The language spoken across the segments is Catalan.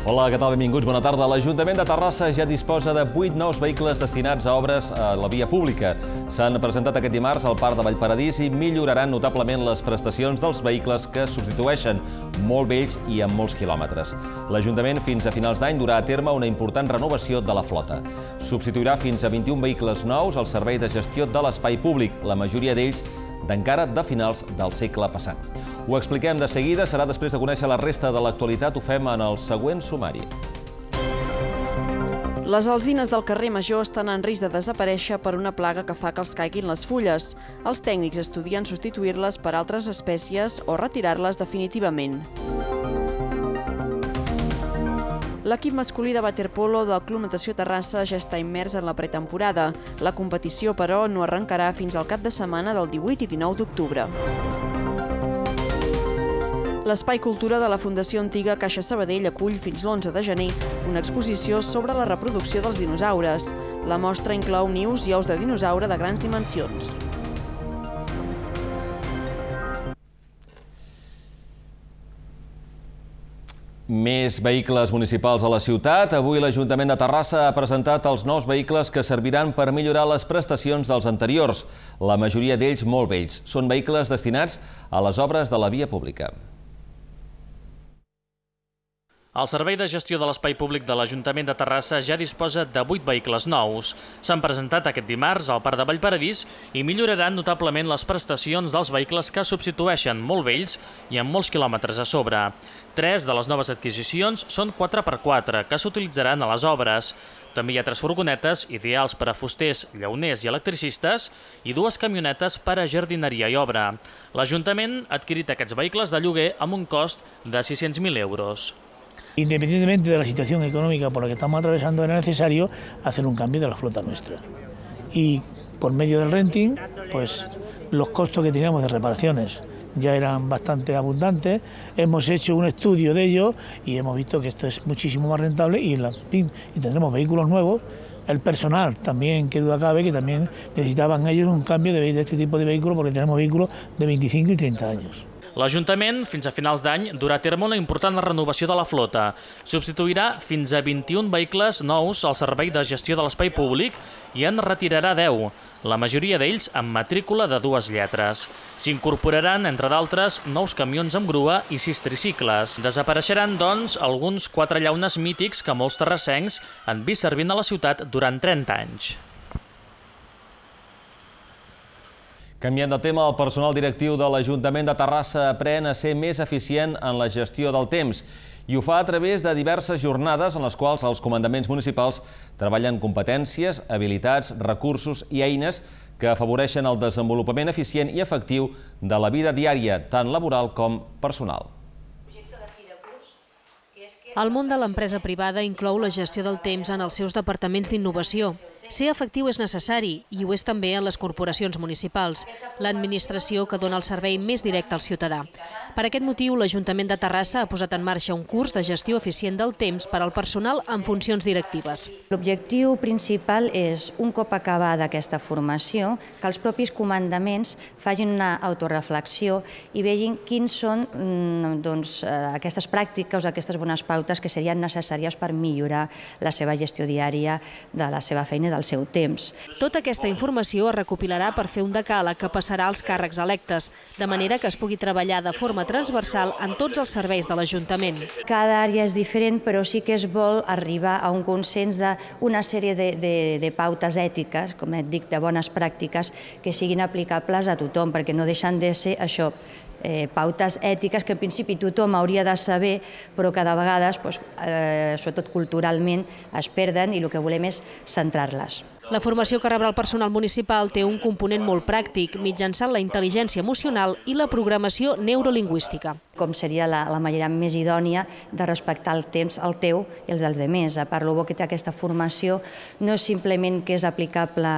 Hola, què tal? Benvinguts, bona tarda. L'Ajuntament de Terrassa ja disposa de 8 nous vehicles destinats a obres a la via pública. S'han presentat aquest dimarts al Parc de Vallparadís i milloraran notablement les prestacions dels vehicles que substitueixen, molt vells i amb molts quilòmetres. L'Ajuntament fins a finals d'any durà a terme una important renovació de la flota. Substituirà fins a 21 vehicles nous al servei de gestió de l'espai públic, la majoria d'ells d'encara de finals del segle passat. Ho expliquem de seguida, serà després de conèixer la resta de l'actualitat, ho fem en el següent sumari. Les alzines del carrer Major estan en risc de desaparèixer per una plaga que fa que els caiguin les fulles. Els tècnics estudien substituir-les per altres espècies o retirar-les definitivament. L'equip masculí de waterpolo del Club Natació Terrassa ja està immers en la pretemporada. La competició, però, no arrencarà fins al cap de setmana del 18 i 19 d'octubre. L'Espai Cultura de la Fundació Antiga Caixa Sabadell acull fins l'11 de gener una exposició sobre la reproducció dels dinosaures. La mostra inclou nius i ous de dinosaure de grans dimensions. Més vehicles municipals a la ciutat. Avui l'Ajuntament de Terrassa ha presentat els nous vehicles que serviran per millorar les prestacions dels anteriors. La majoria d'ells molt vells. Són vehicles destinats a les obres de la via pública. El Servei de Gestió de l'Espai Públic de l'Ajuntament de Terrassa ja disposa de 8 vehicles nous. S'han presentat aquest dimarts al Parc de Vallparadís i milloraran notablement les prestacions dels vehicles que substitueixen molt vells i amb molts quilòmetres a sobre. 3 de les noves adquisicions són 4x4, que s'utilitzaran a les obres. També hi ha 3 furgonetes ideals per a fusters, llauners i electricistes i 2 camionetes per a jardineria i obra. L'Ajuntament ha adquirit aquests vehicles de lloguer amb un cost de 600.000 euros. Independientemente de la situación económica por la que estamos atravesando, era necesario hacer un cambio de la flota nuestra. Y por medio del renting, pues los costos que teníamos de reparaciones ya eran bastante abundantes. Hemos hecho un estudio de ello y hemos visto que esto es muchísimo más rentable y tendremos vehículos nuevos. El personal también, que duda cabe, que también necesitaban ellos un cambio de este tipo de vehículos porque tenemos vehículos de 25 y 30 años. L'Ajuntament, fins a finals d'any, durà a terme una important renovació de la flota. Substituirà fins a 21 vehicles nous al servei de gestió de l'espai públic i en retirarà 10, la majoria d'ells amb matrícula de 2 lletres. S'incorporaran, entre d'altres, nous camions amb grua i 6 tricicles. Desapareixeran, doncs, alguns 4 llaunes mítics que molts terrassencs han vist servint a la ciutat durant 30 anys. Canviant de tema, el personal directiu de l'Ajuntament de Terrassa aprèn a ser més eficient en la gestió del temps i ho fa a través de diverses jornades en les quals els comandaments municipals treballen competències, habilitats, recursos i eines que afavoreixen el desenvolupament eficient i efectiu de la vida diària, tant laboral com personal. El món de l'empresa privada inclou la gestió del temps en els seus departaments d'innovació. Ser efectiu és necessari i ho és també en les corporacions municipals, l'administració que dona el servei més directe al ciutadà. Per aquest motiu, l'Ajuntament de Terrassa ha posat en marxa un curs de gestió eficient del temps per al personal en funcions directives. L'objectiu principal és, un cop acabada aquesta formació, que els propis comandaments facin una autoreflexió i vegin quins són aquestes pràctiques o aquestes bones pautes que serien necessàries per millorar la seva gestió diària de la seva feina i del seu temps. Tota aquesta informació es recopilarà per fer un decàleg que passarà als càrrecs electes, de manera que es pugui treballar de forma transversal en tots els serveis de l'Ajuntament. Cada àrea és diferent, però sí que es vol arribar a un consens d'una sèrie de pautes ètiques, com et dic, de bones pràctiques, que siguin aplicables a tothom, perquè no deixen de ser això, pautes ètiques que en principi tothom hauria de saber, però cada vegada, sobretot culturalment, es perden i el que volem és centrar-les. La formació que rebrà el personal municipal té un component molt pràctic, mitjançant la intel·ligència emocional i la programació neurolingüística. Com seria la manera més idònia de respectar el temps, el teu i els dels altres. Per lo bo que té aquesta formació, no és simplement que és aplicable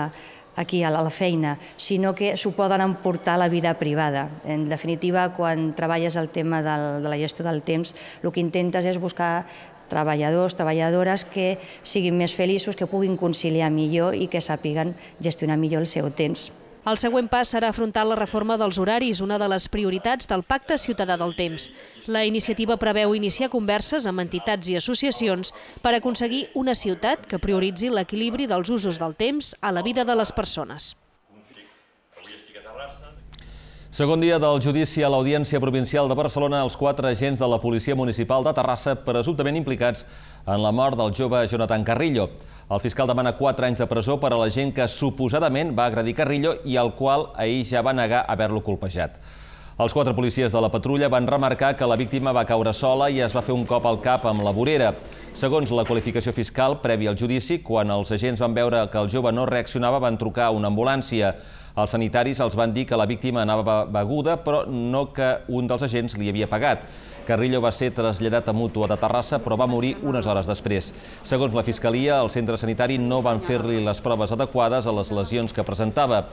aquí a la feina, sinó que s'ho poden emportar a la vida privada. En definitiva, quan treballes el tema de la gestió del temps, el que intentes és buscar treballadors, treballadores que siguin més feliços, que puguin conciliar millor i que sàpiguen gestionar millor el seu temps. El següent pas serà afrontar la reforma dels horaris, una de les prioritats del Pacte Ciutadà del Temps. La iniciativa preveu iniciar converses amb entitats i associacions per aconseguir una ciutat que prioritzi l'equilibri dels usos del temps a la vida de les persones. Segon dia del judici a l'Audiència Provincial de Barcelona, els 4 agents de la Policia Municipal de Terrassa presumptament implicats en la mort del jove Jonathan Carrillo. El fiscal demana 4 anys de presó per a l'agent que suposadament va agredir Carrillo i al qual ahir ja va negar haver-lo colpejat. Els 4 policies de la patrulla van remarcar que la víctima va caure sola i es va fer un cop al cap amb la vorera. Segons la qualificació fiscal, prèvia al judici, quan els agents van veure que el jove no reaccionava, van trucar a una ambulància. Els sanitaris els van dir que la víctima anava beguda, però no que un dels agents li havia pagat. Carrillo va ser traslladat a Mútua de Terrassa, però va morir unes hores després. Segons la Fiscalia, el centre sanitari no van fer-li les proves adequades a les lesions que presentava.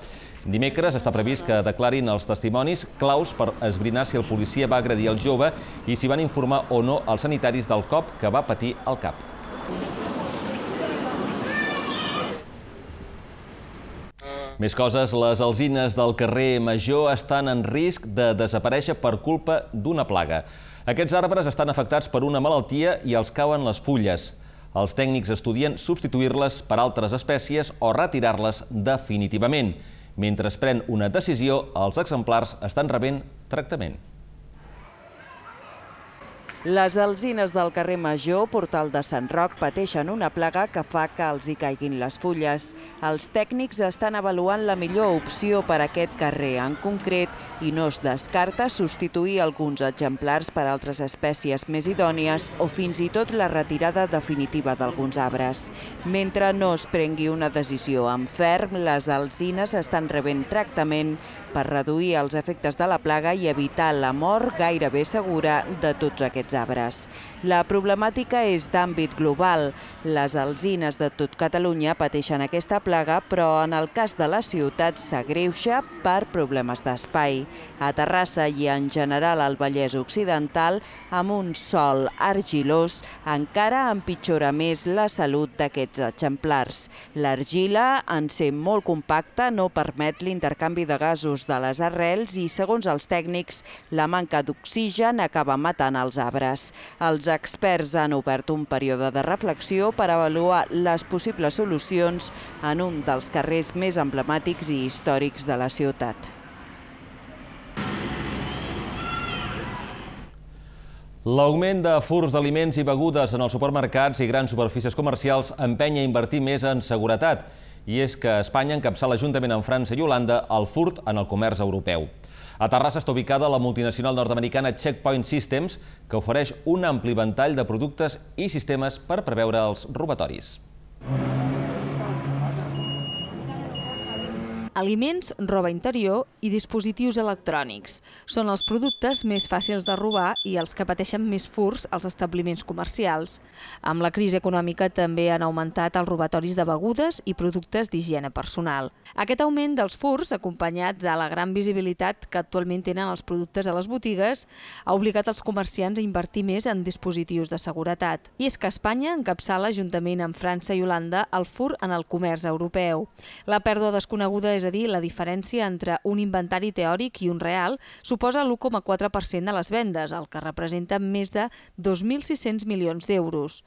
Dimecres està previst que declarin els testimonis claus per esbrinar si el policia va agredir el jove i si van informar o no els sanitaris del cop que va patir al cap. Més coses, les alzines del carrer Major estan en risc de desaparèixer per culpa d'una plaga. Aquests arbres estan afectats per una malaltia i els cauen les fulles. Els tècnics estudien substituir-les per altres espècies o retirar-les definitivament. Mentre es pren una decisió, els exemplars estan rebent tractament. Les alzines del carrer Major, Portal de Sant Roc, pateixen una plaga que fa que els hi caiguin les fulles. Els tècnics estan avaluant la millor opció per a aquest carrer en concret i no es descarta substituir alguns exemplars per altres espècies més idònies o fins i tot la retirada definitiva d'alguns arbres. Mentre no es prengui una decisió en ferm, les alzines estan rebent tractament per reduir els efectes de la plaga i evitar la mort gairebé segura de tots aquests arbres. La problemàtica és d'àmbit global. Les alzines de tot Catalunya pateixen aquesta plaga, però en el cas de la ciutat s'agreuja per problemes d'espai. A Terrassa i en general al Vallès Occidental, amb un sòl argilós, encara empitjora més la salut d'aquests exemplars. L'argila, en ser molt compacta, no permet l'intercanvi de gasos de les arrels i, segons els tècnics, la manca d'oxigen acaba matant els arbres. Els experts han obert un període de reflexió per avaluar les possibles solucions en un dels carrers més emblemàtics i històrics de la ciutat. L'augment de furts d'aliments i begudes en els supermercats i grans superfícies comercials empenya a invertir més en seguretat. I és que Espanya encapçala juntament amb França i Holanda el furt en el comerç europeu. A Terrassa està ubicada la multinacional nord-americana Checkpoint Systems, que ofereix un ampli ventall de productes i sistemes per preveure els robatoris. Aliments, roba interior i dispositius electrònics. Són els productes més fàcils de robar i els que pateixen més furts als establiments comercials. Amb la crisi econòmica també han augmentat els robatoris de begudes i productes d'higiene personal. Aquest augment dels furts, acompanyat de la gran visibilitat que actualment tenen els productes a les botigues, ha obligat els comerciants a invertir més en dispositius de seguretat. I és que Espanya encapçala, juntament amb França i Holanda, el furt en el comerç europeu. La pèrdua desconeguda, és a dir, la diferència entre un inventari teòric i un real, suposa l'1,4% de les vendes, el que representa més de 2.600 milions d'euros.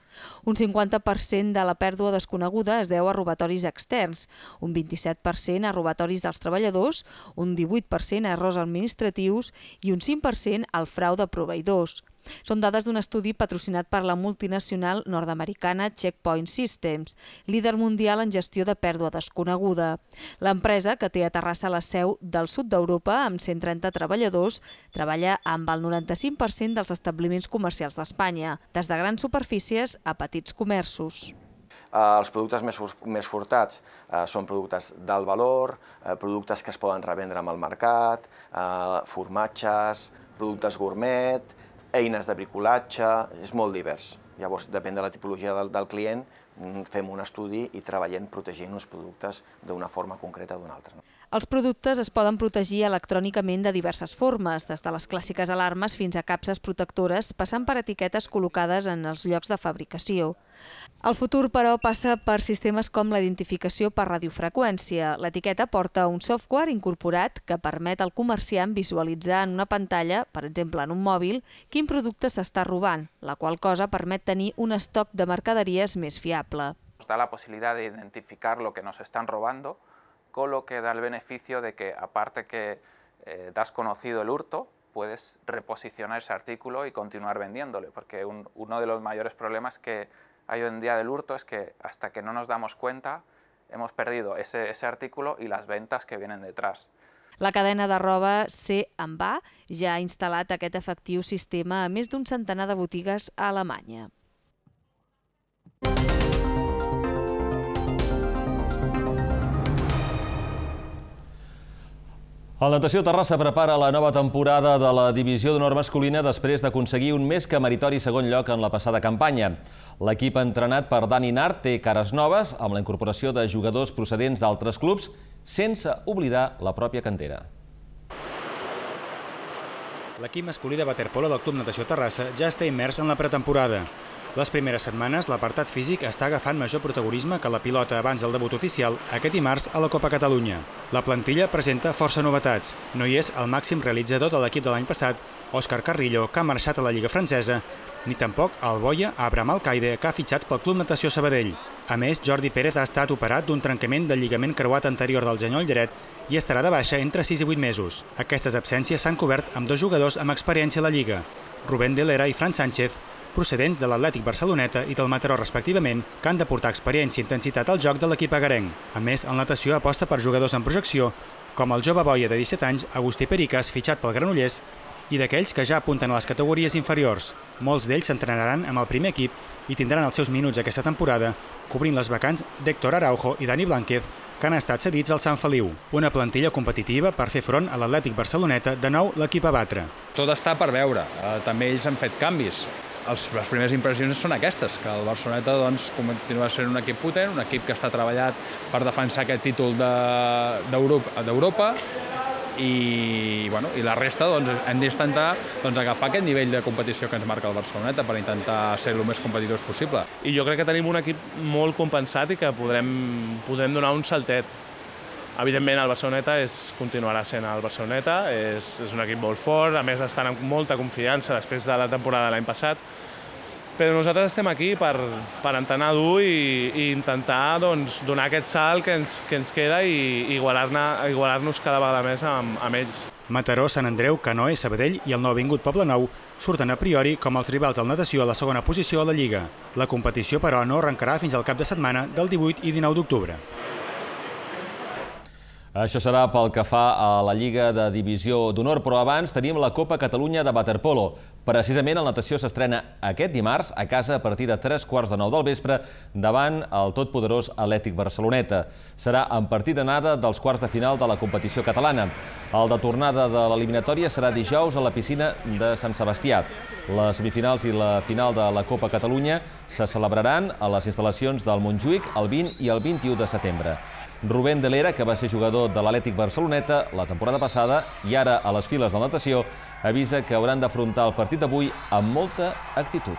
Un 50% de la pèrdua desconeguda es deu a robatoris externs, un 27% a robatoris dels treballadors, un 18% a errors administratius i un 5% al frau de proveïdors. Són dades d'un estudi patrocinat per la multinacional nord-americana Checkpoint Systems, líder mundial en gestió de pèrdua desconeguda. L'empresa, que té a Terrassa la seu del sud d'Europa amb 130 treballadors, treballa amb el 95% dels establiments comercials d'Espanya, des de grans superfícies a petits comerços. Els productes més furtats són productes d'alt valor, productes que es poden revendre amb el mercat, formatges, productes gourmet, eines de bricolatge, és molt divers. Llavors, depèn de la tipologia del client, fem un estudi i treballem protegint els productes d'una forma concreta o d'una altra. Els productes es poden protegir electrònicament de diverses formes, des de les clàssiques alarmes fins a capses protectores, passant per etiquetes col·locades en els llocs de fabricació. El futur, però, passa per sistemes com la identificació per radiofreqüència. L'etiqueta porta un software incorporat que permet al comerciant visualitzar en una pantalla, per exemple en un mòbil, quin producte s'està robant, la qual cosa permet tenir un estoc de mercaderies més fiable. Nos da la posibilidad de identificar lo que nos están robando, con lo que da el beneficio de que, aparte que te has conocido el hurto, puedes reposicionar ese artículo y continuar vendiéndole, porque uno de los mayores problemas que hay hoy en día del hurto es que hasta que no nos damos cuenta hemos perdido ese artículo y las ventas que vienen detrás. La cadena de roba C&A ja ha instal·lat aquest efectiu sistema a més d'un centenar de botigues a Alemanya. El Natació Terrassa prepara la nova temporada de la Divisió d'Honor masculina després d'aconseguir un més que meritori segon lloc en la passada campanya. L'equip entrenat per Dani Nart té cares noves amb la incorporació de jugadors procedents d'altres clubs, sense oblidar la pròpia cantera. L'equip masculí de waterpolo del Club Natació Terrassa ja està immers en la pretemporada. Les primeres setmanes l'apartat físic està agafant major protagonisme que la pilota abans del debut oficial aquest dimarts a la Copa Catalunya. La plantilla presenta força novetats. No hi és el màxim realitzador de l'equip de l'any passat, Òscar Carrillo, que ha marxat a la Lliga francesa, ni tampoc el boia Abraham Alcaide, que ha fitxat pel Club Natació Sabadell. A més, Jordi Pérez ha estat operat d'un trencament del lligament creuat anterior del genoll dret i estarà de baixa entre 6 i 8 mesos. Aquestes absències s'han cobert amb 2 jugadors amb experiència a la Lliga, Rubén de Lera i Fran Sánchez, procedents de l'Atlètic Barceloneta i del Mataró respectivament, que han de portar experiència i intensitat al joc de l'equip agarenc. A més, el Natació aposta per jugadors en projecció, com el jove boia de 17 anys, Agustí Pericas, fitxat pel Granollers, i d'aquells que ja apunten a les categories inferiors. Molts d'ells s'entrenaran amb el primer equip i tindran els seus minuts aquesta temporada, cobrint les vacants d'Héctor Araujo i Dani Blánquez, que han estat cedits al Sant Feliu. Una plantilla competitiva per fer front a l'Atlètic Barceloneta, de nou l'equip a batre. Tot està per veure. També ells han fet canvis. Les primeres impressions són aquestes, que el Barceloneta continua sent un equip potent, un equip que està treballat per defensar aquest títol d'Europa i la resta hem d'intentar agafar aquest nivell de competició que ens marca el Barceloneta per intentar ser el més competitius possible. I jo crec que tenim un equip molt compensat i que podrem donar un saltet. Evidentment, el Barceloneta continuarà sent el Barceloneta, és un equip molt fort, a més estan amb molta confiança després de la temporada de l'any passat, però nosaltres estem aquí per entrenar dur i intentar donar aquest salt que ens queda i igualar-nos cada vegada més amb ells. Mataró, Sant Andreu, Canoe, Sabadell i el nouvingut Poblenou surten a priori com els rivals del Natació a la segona posició a la Lliga. La competició, però, no arrencarà fins al cap de setmana del 18 i 19 d'octubre. Això serà pel que fa a la Lliga de Divisió d'Honor, però abans tenim la Copa Catalunya de waterpolo. Precisament el Natació s'estrena aquest dimarts a casa a partir de 3:15 del vespre davant el totpoderós Atlètic Barceloneta. Serà en partit d'anada dels quarts de final de la competició catalana. El de tornada de l'eliminatòria serà dijous a la piscina de Sant Sebastià. Les semifinals i la final de la Copa Catalunya se celebraran a les instal·lacions del Montjuïc el 20 i el 21 de setembre. Rubén de Lera, que va ser jugador de l'Atlètic Barceloneta la temporada passada i ara a les files de natació, avisa que hauran d'afrontar el partit d'avui amb molta actitud.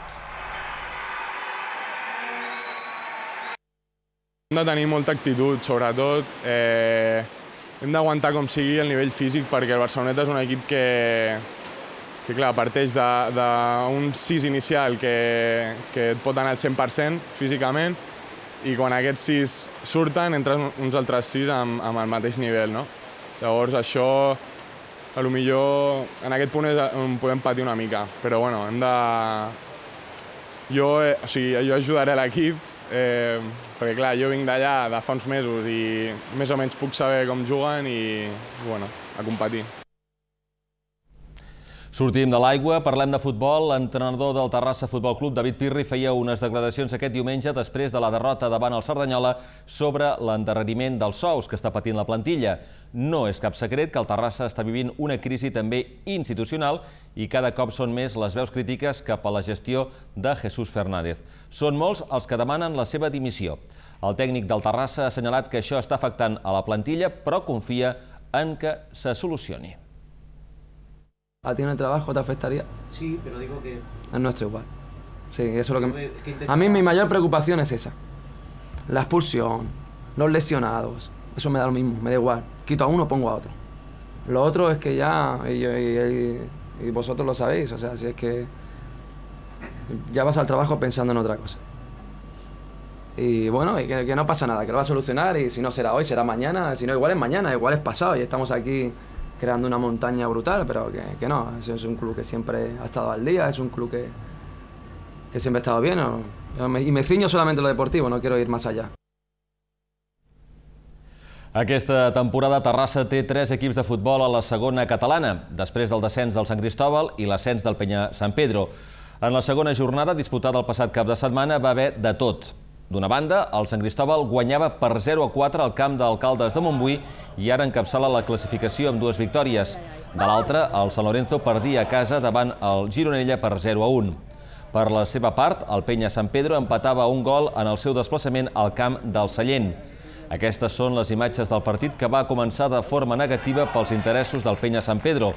Hem de tenir molta actitud, sobretot. Hem d'aguantar com sigui el nivell físic perquè el Barceloneta és un equip que clar, parteix d'un 6 inicial que et pot anar al 100% físicament, i quan aquests 6 surten, entren uns altres 6 amb el mateix nivell, no? Llavors això, potser en aquest punt on podem patir una mica, però bueno, hem de... Jo ajudaré l'equip, perquè clar, jo vinc d'allà de fa uns mesos i més o menys puc saber com juguen i, bueno, a competir. Sortim de l'aigua, parlem de futbol. L'entrenador del Terrassa Futbol Club, David Pirri, feia unes declaracions aquest diumenge després de la derrota davant el Cerdanyola sobre l'endarreriment dels sous que està patint la plantilla. No és cap secret que el Terrassa està vivint una crisi també institucional i cada cop són més les veus crítiques cap a la gestió de Jesús Fernández. Són molts els que demanen la seva dimissió. El tècnic del Terrassa ha assenyalat que això està afectant a la plantilla, però confia en que se solucioni. ¿A ti en el trabajo te afectaría? Sí, pero digo que... El nuestro igual. Sí, eso es lo que... A mí mi mayor preocupación es esa. La expulsión, los lesionados, eso me da lo mismo, me da igual. Quito a uno, pongo a otro. Lo otro es que ya, y vosotros lo sabéis, o sea, si es que ya vas al trabajo pensando en otra cosa. Y bueno, y que no pasa nada, que lo va a solucionar y si no será hoy, será mañana, si no igual es mañana, igual es pasado y estamos aquí creando una montaña brutal, pero que no, es un club que siempre ha estado al día, es un club que siempre ha estado bien, y me ciño solamente en lo deportivo, no quiero ir más allá. Aquesta temporada Terrassa té 3 equips de futbol a la segona catalana, després del descens del Sant Cristóbal i l'ascens del Penya Sant Pedro. En la segona jornada, disputada el passat cap de setmana, va haver de tot. D'una banda, el Sant Cristóbal guanyava per 0-4 al camp d'Alcaldes de Montbui i ara encapçala la classificació amb 2 victòries. De l'altra, el Sant Lorenzo perdia a casa davant el Gironella per 0-1. Per la seva part, el Penya Sant Pedro empatava un gol en el seu desplaçament al camp del Sallent. Aquestes són les imatges del partit que va començar de forma negativa pels interessos del Penya Sant Pedro.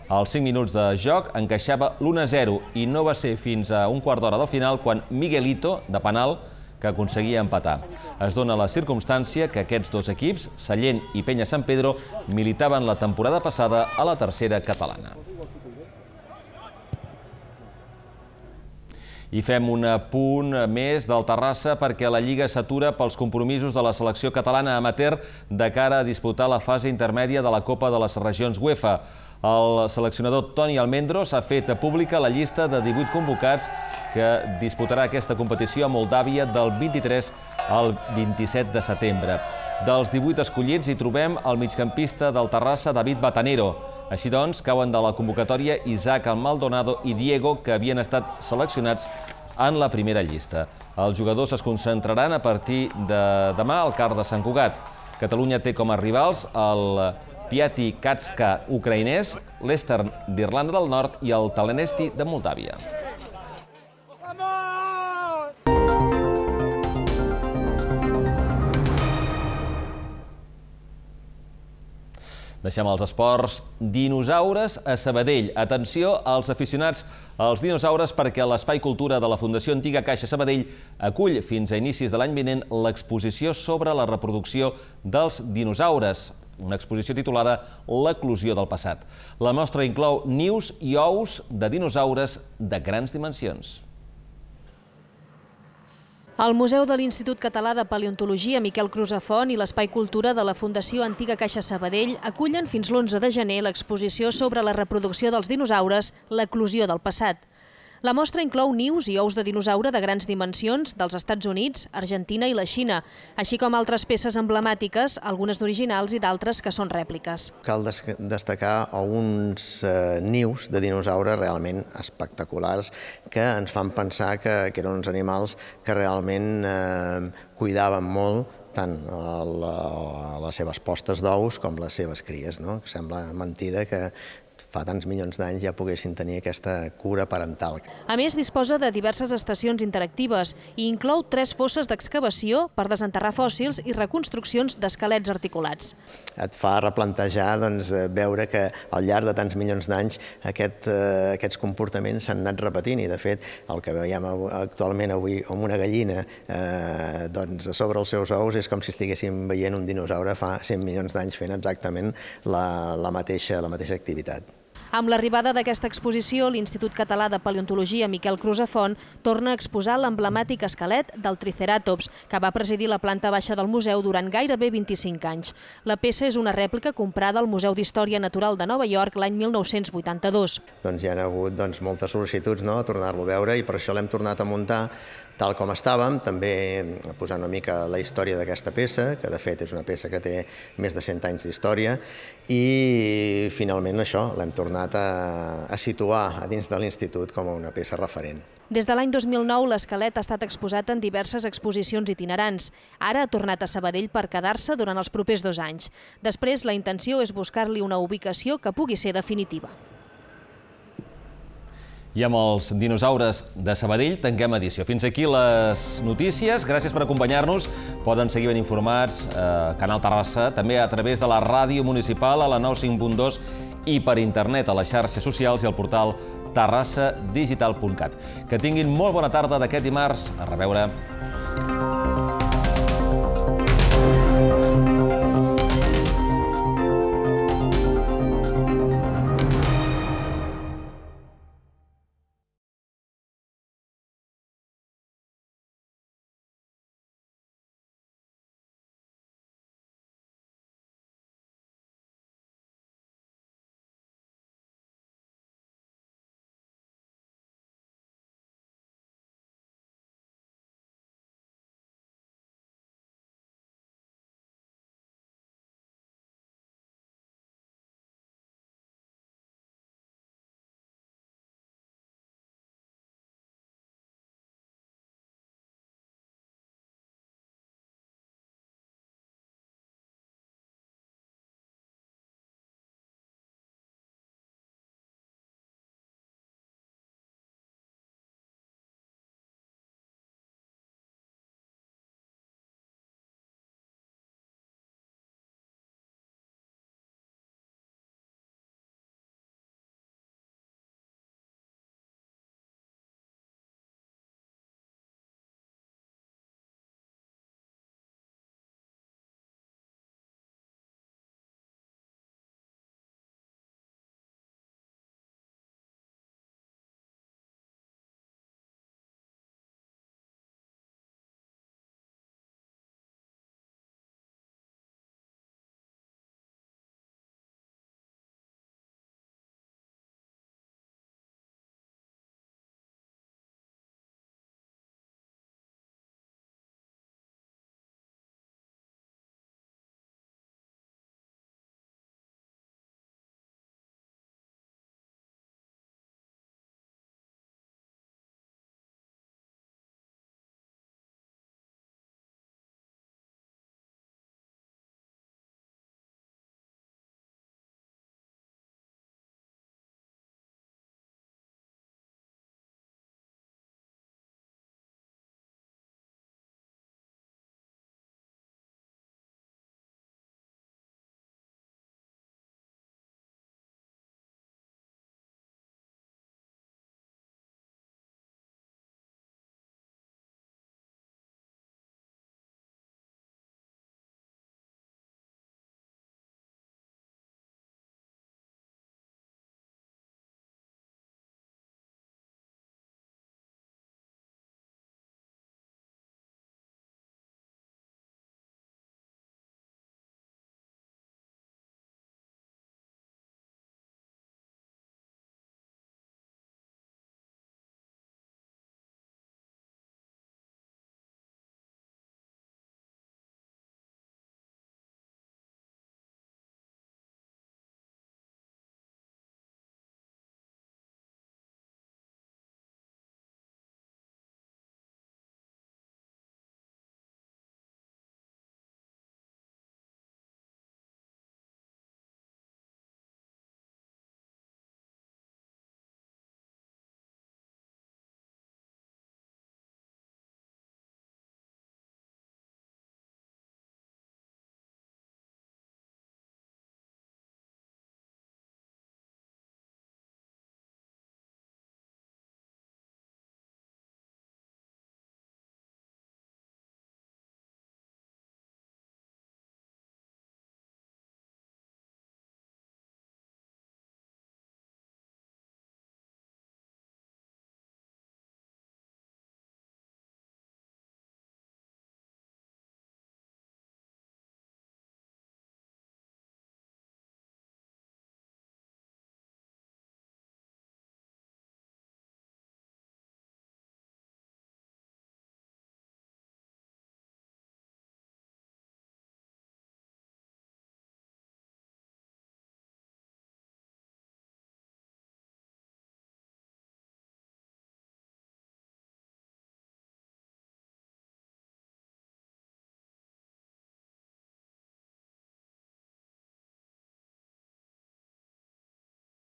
Als 5 minuts de joc encaixava l'1-0 i no va ser fins a un quart d'hora del final quan Miguelito, de penal, que aconseguia empatar. Es dona la circumstància que aquests 2 equips, Sallent i Penya Sant Pedro, militaven la temporada passada a la tercera catalana. I fem un punt més del Terrassa perquè la Lliga s'atura pels compromisos de la selecció catalana amateur de cara a disputar la fase intermèdia de la Copa de les Regions UEFA. El seleccionador Toni Almendros ha fet pública la llista de 18 convocats que disputarà aquesta competició a Moldàvia del 23 al 27 de setembre. Dels 18 escollits hi trobem el migcampista del Terrassa, David Batanero. Així doncs, cauen de la convocatòria Isaac Maldonado i Diego, que havien estat seleccionats en la primera llista. Els jugadors es concentraran a partir de demà al CAR de Sant Cugat. Catalunya té com a rivals el Piati Katska ucraïnès, l'Estern d'Irlanda del Nord i el Talenesti de Moldàvia. Deixem els esports. Dinosaures a Sabadell. Atenció als aficionats als dinosaures perquè l'Espai Cultura de la Fundació Antiga Caixa Sabadell acull fins a inicis de l'any vinent l'exposició sobre la reproducció dels dinosaures, una exposició titulada L'eclosió del passat. La mostra inclou nius i ous de dinosaures de grans dimensions. El Museu de l'Institut Català de Paleontologia Miquel Crusafont i l'Espai Cultura de la Fundació Antiga Caixa Sabadell acullen fins l'11 de gener l'exposició sobre la reproducció dels dinosaures, l'eclosió del passat. La mostra inclou nius i ous de dinosaure de grans dimensions dels Estats Units, Argentina i la Xina, així com altres peces emblemàtiques, algunes d'originals i d'altres que són rèpliques. Cal destacar uns nius de dinosaures realment espectaculars que ens fan pensar que eren uns animals que realment cuidaven molt tant les seves postes d'ous com les seves cries. Sembla mentida que fa tants milions d'anys ja poguessin tenir aquesta cura parental. A més, disposa de diverses estacions interactives i inclou 3 fosses d'excavació per desenterrar fòssils i reconstruccions d'esquelets articulats. Et fa replantejar veure que al llarg de tants milions d'anys aquests comportaments s'han anat repetint i, de fet, el que veiem actualment avui amb una gallina sobre els seus ous és com si estiguéssim veient un dinosaure fa 100 milions d'anys fent exactament la mateixa activitat. Amb l'arribada d'aquesta exposició, l'Institut Català de Paleontologia Miquel Crusafont torna a exposar l'emblemàtic esquelet del Triceratops, que va presidir la planta baixa del museu durant gairebé 25 anys. La peça és una rèplica comprada al Museu d'Història Natural de Nova York l'any 1982. Hi ha hagut moltes sol·licituds a tornar-lo a veure i per això l'hem tornat a muntar tal com estàvem, també posant una mica la història d'aquesta peça, que de fet és una peça que té més de 100 anys d'història, i finalment això, l'hem tornat a situar a dins de l'institut com una peça referent. Des de l'any 2009, l'esquelet ha estat exposat en diverses exposicions itinerants. Ara ha tornat a Sabadell per quedar-se durant els propers 2 anys. Després, la intenció és buscar-li una ubicació que pugui ser definitiva. I amb els dinosaures de Sabadell tanquem edició. Fins aquí les notícies. Gràcies per acompanyar-nos. Poden seguir ben informats a Canal Terrassa, també a través de la ràdio municipal a la 95.2 i per internet a les xarxes socials i al portal terrassadigital.cat. Que tinguin molt bona tarda d'aquest dimarts. A reveure.